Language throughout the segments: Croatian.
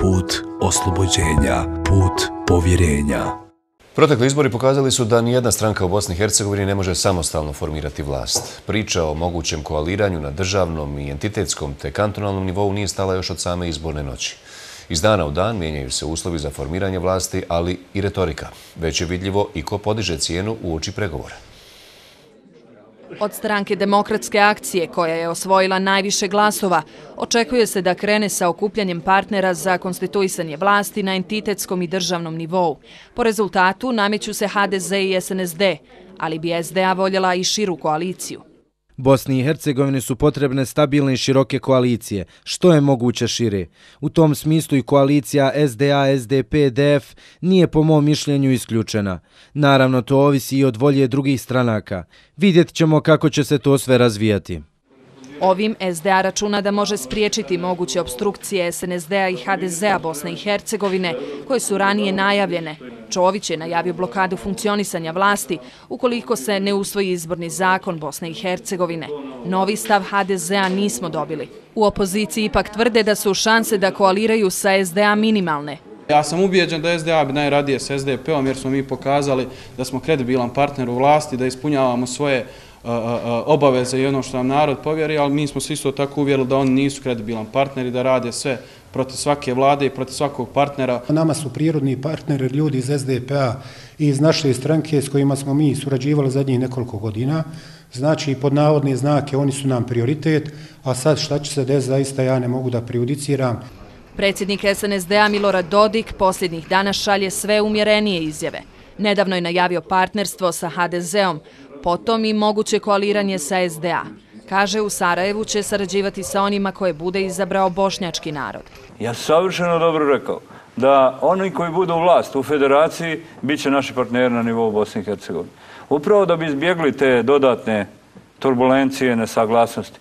put oslobođenja, put povjerenja. Protekli izbori pokazali su da nijedna stranka u Bosni i Hercegovini ne može samostalno formirati vlast. Priča o mogućem koaliranju na državnom i entitetskom te kantonalnom nivou nije stala još od same izborne noći. Iz dana u dan mijenjaju se uslovi za formiranje vlasti, ali i retorika. Već je vidljivo i ko podiže cijenu uoči pregovora. Od stranke Demokratske akcije, koja je osvojila najviše glasova, očekuje se da krene sa okupljanjem partnera za konstituisanje vlasti na entitetskom i državnom nivou. Po rezultatu nameću se HDZ i SNSD, ali bi SDA voljela i širu koaliciju. Bosni i Hercegovini su potrebne stabilne i široke koalicije, što je moguće šire. U tom smislu i koalicija SDA, SDP, DF nije po mom mišljenju isključena. Naravno, to ovisi i od volje drugih stranaka. Vidjet ćemo kako će se to sve razvijati. Ovim SDA računa da može spriječiti moguće opstrukcije SNSD-a i HDZ-a Bosne i Hercegovine, koje su ranije najavljene. Čović je najavio blokadu funkcionisanja vlasti ukoliko se ne usvoji izborni zakon Bosne i Hercegovine. Novi stav HDZ-a nismo dobili. U opoziciji ipak tvrde da su šanse da koaliraju sa SDA minimalne. Ja sam ubijeđen da SDA bi najradije s SDP-om jer smo mi pokazali da smo kredibilan partner u vlasti, da ispunjavamo svoje obaveze i ono što nam narod povjeri, ali mi smo se isto tako uvjerili da oni nisu kredibilan partner i da rade sve protiv svake vlade i protiv svakog partnera. Nama su prirodni partneri ljudi iz SDP-a i iz naše stranke s kojima smo mi surađivali zadnjih nekoliko godina. Znači, pod navodne znake oni su nam prioritet, a sad šta će se desiti zaista ja ne mogu da prejudiciram. Predsjednik SNSD-a Milorad Dodik posljednjih dana šalje sve umjerenije izjave. Nedavno je najavio partnerstvo sa HDZ-om, potom i moguće koaliranje sa SDA. Kaže, u Sarajevu će sarađivati sa onima koje bude izabrao bošnjački narod. Ja savršeno dobro rekao da oni koji budu u vlast u federaciji bit će naši partneri na nivou Bosne i Hercegovine. Upravo da bi izbjegli te dodatne turbulencije, nesaglasnosti.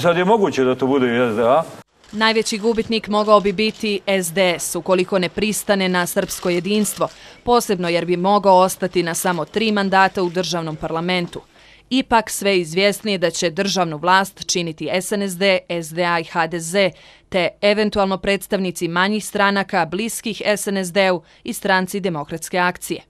Sad je moguće da to bude i SDA. Najveći gubitnik mogao bi biti SDS ukoliko ne pristane na srpsko jedinstvo, posebno jer bi mogao ostati na samo 3 mandata u državnom parlamentu. Ipak sve izvjesnije da će državnu vlast činiti SNSD, SDA i HDZ, te eventualno predstavnici manjih stranaka bliskih SNSD-u i stranci Demokratske akcije.